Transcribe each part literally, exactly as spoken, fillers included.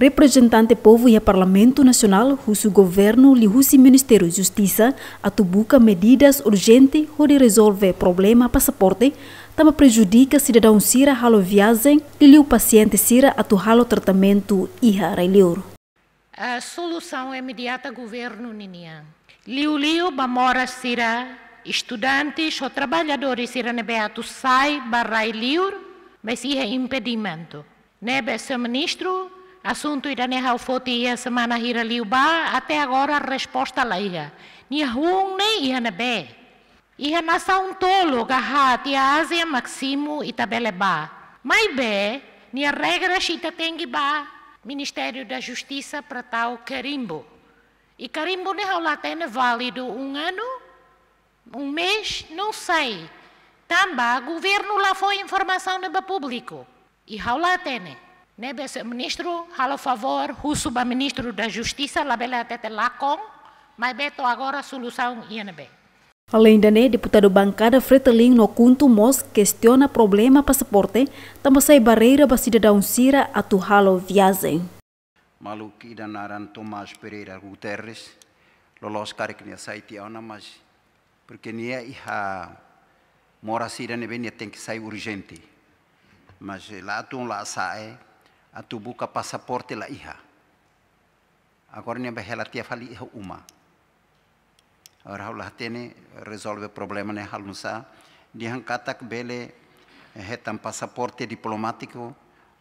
Reprezentante povu iha Parlamentu Nasionál husu governu liuhusi Ministériu Justisa atu buka medidas urjente hodi rezolve problema pasaporte, tanba prejudika sidadaun sira halo viajen, liuliu pasiente sira atu halo tratamentu iha rai-liur. A solusaun imediata governu ninian. Liuliu ba moras sira, estudante, ho traballadór sira ne'ebé atu sai ba rai-liur, mas iha impedimentu. Ne'ebé señór ministru, asuntu ida-ne'e ha'u foti iha semana hira liubá, até agora resposta la iha. Nia hun ne'e iha ne'ebé? Iha nasaun tolu ka haat iha Ázia mak simu ita bele bá. Maibé, nia regras ita tenke bá Ministério da Justiça para tau karimbu. I karimbu ne'e ha'u la hatene válidu um ano, um mês, não sei. Tanba governu la fó informasaun ne'e ba públiku. I ha'u la hatene. Ne'ebé señór ministru, halo favór, husu ba Ministru da Justisa, labele hatete lakon, maibé to'o agora solusaun iha ne'ebé? Além de ne'e, deputadu bankada Fretilin no KHUNTO mós kestiona problema pasaporte, tanba sai barreira ba sidadaun sira atu halo viajen. Maluk ida naran Tomás Pereira Guterres, loloos karik nia sai tiha ona, mas porque nia iha moras ida ne'ebé nia tenke sai urjente. Mas la atu la sa'e, atu buka pasaporte la iha. Agora nia bá hela tiha fali iha uma. Agora ha'u la hatene rezolve problema ne'e halo nu'usá. Dehan katak bele, eh, hetan pasaporte diplomátiku,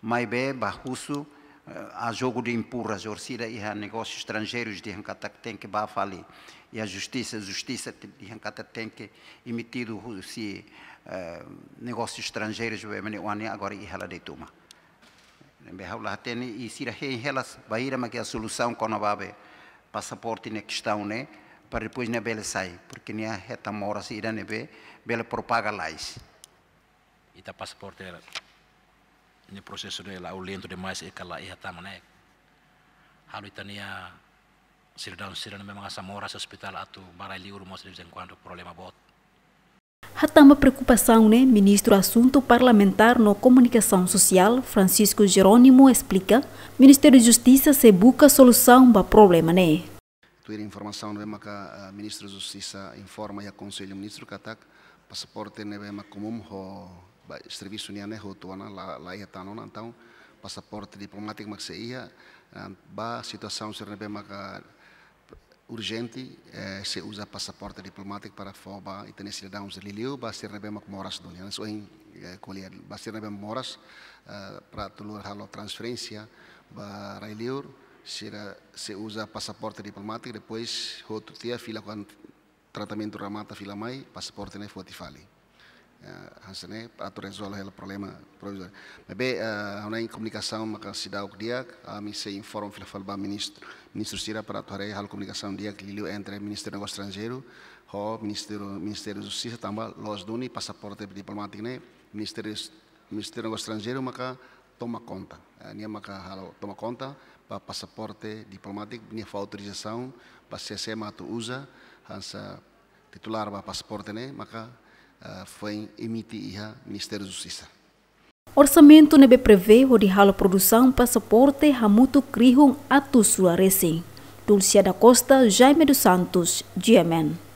maibé bá husu, eh, a jogo de empurras, orsida iha negósius estranjeirus dehan katak tenke bá fali. Iha justisa, justisa te-, dehan katak tenke emitidu husi, eh, negósius estranjeirus, be mane wani agora iha la de'it uma. Ne'ebé ha'u la hatene i sira hein hela bainhira mak iha solusaun kona-ba be pasaporte ne'e kestaun ne'e, para depois nia bele sai, porque nia hetan moras ida ne'ebé bele propaga lalais. Ita pasaporte ne'e prosesu ne'e la'o lentu demais i kala iha tama ne'e. Halo ita-nia sidadaun sira ne'ebé mak hasa'e moras ospitál atu bá rai-liur mós de vez em quando problema boot. Hatán ba preokupasaun ne'e, Ministru Asuntu Parlamentár no Komunikasaun Sosiál, Francisco Jerónimo, esplika, Ministériu Justisa sei buka solusaun ba problema ne'e. Tuir informasaun ne'ebé maka, ah, Ministru Justisa informa iha Konsellu Ministru katak pasaporte ne'ebé mak komún ho ba servisu nian ne'e hotu ona la, la iha tan ona, entaun pasaporte diplomátiku mak sei iha, ah, ba situasaun sira ne'ebé maka urjente, eh, sei uza pasaporte diplomátiku para fó ba ita-nia sidadaun sira liuliu ba sira ne'ebé mak moras duni. Hanesan ohin, eh, ko'alia, ba sira ne'ebé moras, eh, para atu lori halo transferénsia ba rai-liur, sira sei uza pasaporte diplomátiku, depois hotu tiha fila kuandu tratamentu remata fila mai, pasaporte ne'e foti fali. Eh, hanesan ne'e atu rezolve hela problema provizóriu. Maibé, eh, ha'u-nia komunikasaun maka seidauk di'ak, ami sei informa fila fali ba ministru, ministru sira para atu haree halo komunikasaun di'ak liuliu entre Ministériu Negósiu Estranjeiru ho Ministériu, Ministériu Justisa tanba loos duni pasaporte diplomátiku ne'e Ministériu, Ministériu Negósiu Estranjeiru maka toma konta. Eh, nia maka halo toma konta ba pasaporte diplomátiku, nia fó autorizasaun ba sé-sé mak atu uza, hanesan titulár ba pasaporte ne'e maka, eh, foin emite iha Ministériu Justisa. Orsamentu ne'ebé prevee hodi halo produsaun pasaporte hamutuk rihun atus rua resin. Dulcia da Costa, Jaime dos Santos, G M N.